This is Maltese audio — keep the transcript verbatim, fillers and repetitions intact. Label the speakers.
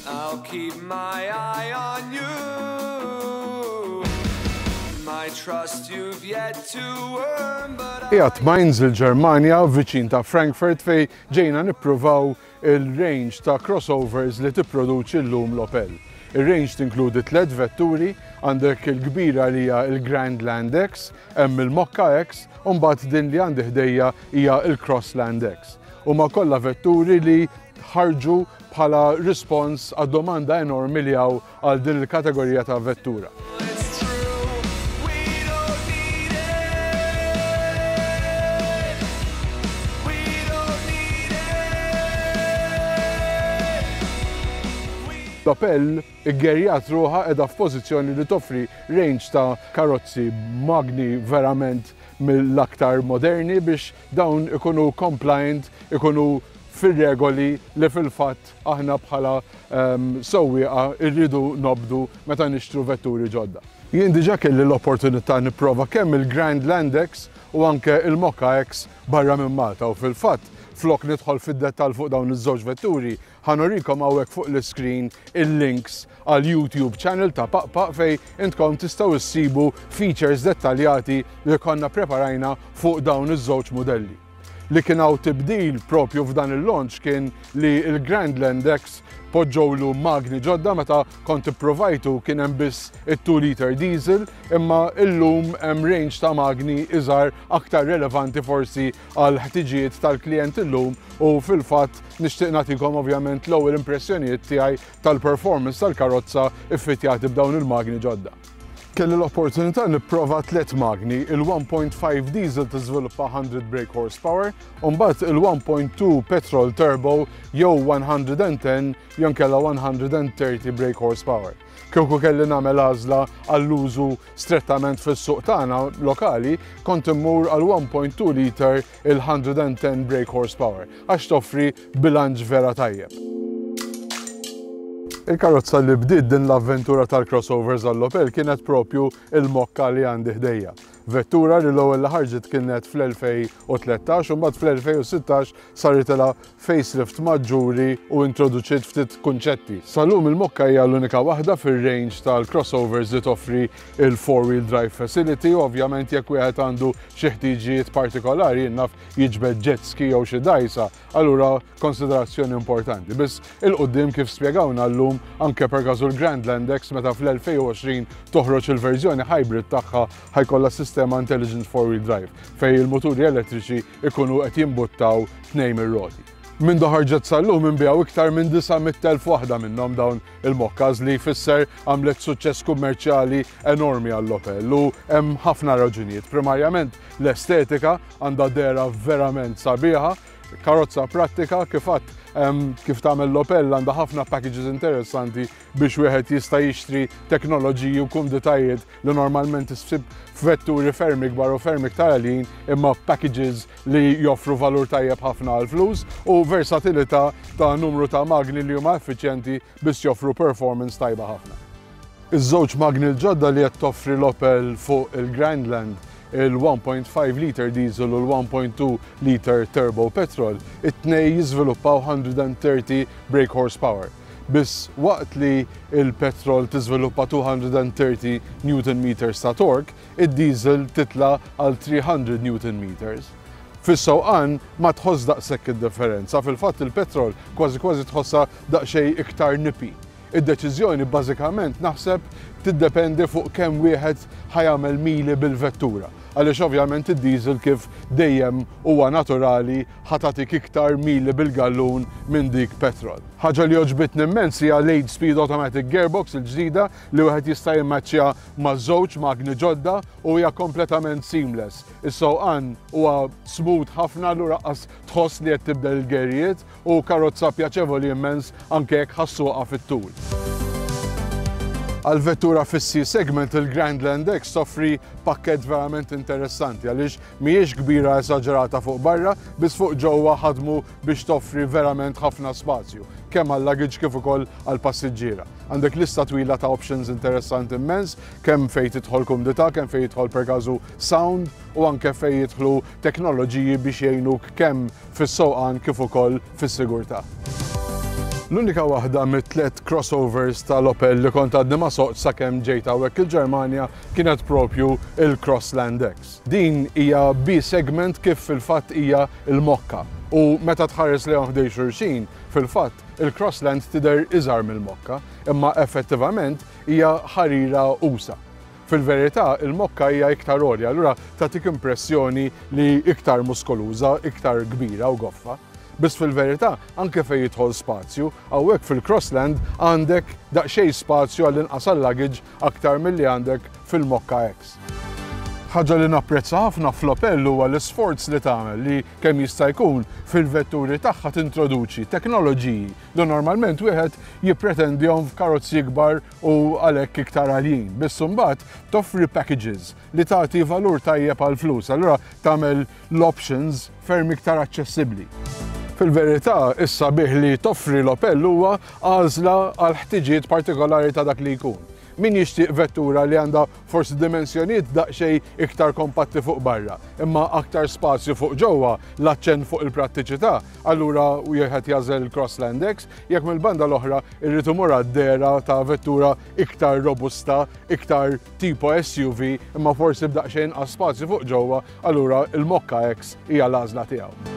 Speaker 1: I'll keep my eye on you. My trust you've yet to earn, but I
Speaker 2: Qiegħed Mainz, il-Ġermanja, viċin ta' Frankfurt, fejn ġejna nippruvaw il-range ta' crossovers li tipproduċi llum l-Opel. Il-range tinkludi tliet vetturi, għandek il-kbira li hija il-Grandland X, hemm il-Mokka X, u mbagħad din li għandi ħdejja hija il-Crossland X. Huma kollha vetturi li ħarġu bħala rispons għad-domanda enormi li hawn għal din il-kategorija ta' vettura.
Speaker 1: It's true. We don't need it. We don't need it.
Speaker 2: L-Opel iggerjat ruħha qiegħda f'pożizzjoni li toffri range ta' karozzi magni verament mill-aktar moderni biex dawn ikunu compliant, ikunu fir-regoli li fil-fatt aħna bħala um, sewwieqa irridu nobdu meta nixtru vetturi ġodda. Jien diġà kelli l-opportunità nipprova kemm il-Grandland X u anke il-Mokka X barra minn Malta u fil-fatt, flok nidħol fid-dettall fuq dawn iż-żewġ vetturi, ħa nurikom hawnhekk fuq l-screen il-links għal YouTube channel ta' Paqpaq fejn intkom tistgħu issibu features dettaljati li konna preparajna fuq dawn iż-żewġ modelli. Li kien hawn tibdil propju f'dan il-launch kien li il-Grandland X poġġowlu magni ġodda. Meta kont ipprovajtu kien hemm biss it-two liter diesel, imma illum hemm range ta' magni iżgħar, aktar relevanti forsi għal ħtiġijiet tal-klient illum, u fil-fatt nixtieq nagħtikom ovvjament l-ewwel impressjonijiet tiegħi tal-performance tal-karozza iffitjati b'dawn il-magni ġodda. Kelli l-opportunità nipprova tliet magni: il-one point five diesel tiżviluppa one hundred brake horsepower, u mbagħad il-one point two petrol turbo jew one hundred and ten jew kella one hundred and thirty brake horsepower. Kieku kelli nagħmel għażla għall-użu strettament fis-suq tagħna lokali, kont immur għal one point two liter il-one hundred and ten brake horsepower għax toffri bilanċ vera tajjeb. Il-karozza li bdiet din l-avventura tal-crossovers għall-Opel kienet propju il-Mokka li għandi ħdejja. Vettura li l-ewwel li ħarġet kienet fl-elfejn u tlettax u mbagħad fl-elfejn u sittax saritilha facelift maġġuri u introduċiet ftit kunċetti. Sal-lum il-Mokka hija l-unika waħda fir-range tal-crossovers li toffri il-four-wheel drive facility u ovvjament jekk wieħed għandu xi ħtiġijiet partikolari, naf, jiġbed jet ski jew xi dgħajsa, allura konsiderazzjoni importanti. Biss 'il quddiem, kif spjegawna llum, anke per każu l-Grandland X, meta fl-elfejn u għoxrin toħroġ il-verżjoni hybrid tagħha, ħa jkollha sistema Intelligent four-wheel drive fejn il-moturi elettriċi ikunu qed jimbuttaw tnejn mir-roti. Minn ħarġet sal-lum inbiegħu iktar minn disa' mitt elf waħda minnhom dawn il-Mokkas, li jfisser għamlet suċċess kummerċjali enormi għall-Opel, u hemm ħafna raġunijiet. Primarjament l-estetika, għandha dehra verament sabiħa, karozza prattika, kif għedt, kif tagħmel l-Opel, għandha ħafna packages interessanti biex wieħed jista' jixtri teknoloġiji u kumditajiet li normalment issib f'vetturi ferm ikbar u ferm iktar għaljin, imma packages li joffru valur tajjeb ħafna għal flus u versatilità ta' numru ta' magni li huma effiċjenti biex joffru performance tajba ħafna. Iż-żewġ magni l-ġodda li qed toffri l-Opel fuq il-Grandland, il-one point five liter diesel u l-one point two liter turbo petrol, it-tnej jiżviluppaw one hundred and thirty brake horsepower. Biss waqt li il-petrol tiżviluppa two hundred and thirty newton meters ta' torque, id-diesel titla għal three hundred newton meters. Fis-sewqan ma tħoss daqshekk id-differenza, fil-fatt il-petrol kważi kważi tħossha daqsxejn iktar nippy. Id-deċiżjoni bażikament naħseb tiddependi fuq kemm wieħed ħa jagħmel mili bil-vettura. Għaliex ovvjament id-diesel, kif dejjem huwa naturali, ħa tagħtik iktar mili bil-gallun minn dik petrol. Ħaġa li għoġbitni immens hija l-eight speed automatic gearbox il-ġdida li wieħed jista' jimmaċċja ma' żewġ magni ġodda u hija kompletament seamless. Is-sewqan huwa smooth ħafna, allura qas tħoss li qed tibdel il-gerijiet, u karozza pjaċevoli immens anke jekk ħa ssuqha fit-tul. Għal vettura fis-C segment, il-Grandland X toffri pakket verament interessanti għaliex mhijiex kbira esaġerata fuq barra, biss fuq ġewwa ħadmu biex toffri verament ħafna spazju, kemm għal luggage kif ukoll għal passiġġiera. Għandek lista twila ta' options interessanti immens, kemm fejn tidħol kumdità, kemm fejn jidħol per każu sound u anke fejn jidħlu teknoloġiji biex jgħinuk kemm fis-sewqan kif ukoll fis-sigurtà. L-unika waħda mit-tliet crossovers tal-Opel li kont għadni ma soqt sakemm ġejt hawnhekk il-Ġermanja kienet propju il-Crossland X. Din hija B-segment kif fil-fatt hija il-Mokka. U meta tħares lejhom ħdejn xulxin, fil-fatt il-Crossland tidher iżgħar mill-Mokka, imma effettivament hija ħarira usa'. Fil-verità, il-Mokka hija iktar għolja, allura tagħtik impressjoni li iktar muskoluża, iktar kbira u goffa. Biss fil-verità, anke fejn jidħol spazju, hawnhekk fil-Crossland għandek daqsxejn spazju għall-inqas luggage aktar milli għandek fil-Mokka X. Ħaġa li napprezza ħafna fl-Opel huwa l-isforz li tagħmel li kemm jista' jkun fil-vetturi tagħha tintroduċi teknoloġiji li normalment wieħed jippretendihom f'karozzi kbar u għalhekk iktar għaljin. Biss imbagħad toffri packages li tagħti valur tajjeb għal flus, allura tagħmel l-options ferm iktar aċċessibbli. Fil-verità, issa bih li toffri l-Opel huwa għażla għal ħtiġijiet partikolari ta' dak li jkun. Min jixtieq vettura li għandha forsi dimensjonijiet daqsxejn iktar kompatti fuq barra, imma aktar spazju fuq ġewwa, l-aċċent fuq il-prattiċità, allura wieħed jagħżel il-Crossland X, jekk mill-banda l-oħra irrid imur għad-dehra ta' vettura iktar robusta, iktar tipo S U V, imma forsi b'daqsxejn inqas spazju fuq ġewwa, allura il-Mokka X hija l-għażla tiegħu.